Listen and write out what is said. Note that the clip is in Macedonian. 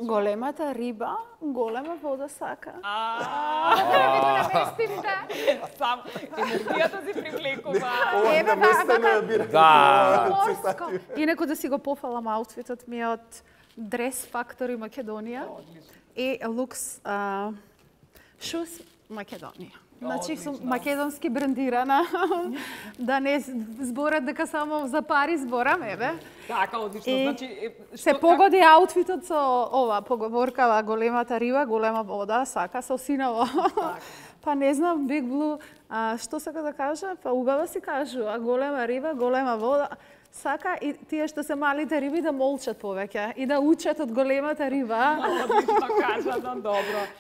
Големата риба, голема вода сака. Да ви го наместим, да. Сам енергијата си привлекува. Еве, наместено ја бира. морско. Инаку да си го пофалам аутфитот ми е од Dress Factory Македонија и Lux Shoes Македонија. Значи сум македонски брендирана, да не зборат дека само за пари зборам, еве. Така, одлично. И Значи, се погоди аутфитот со ова поговоркава големата риба, голема вода, сака со синово. Па не знам, Big Blue, што сака да кажа? Па убаво си кажува, голема риба, голема вода. Сака и тие што се малите риби да молчат повеќе и да учат од големата риба. Одлично кажано, добро.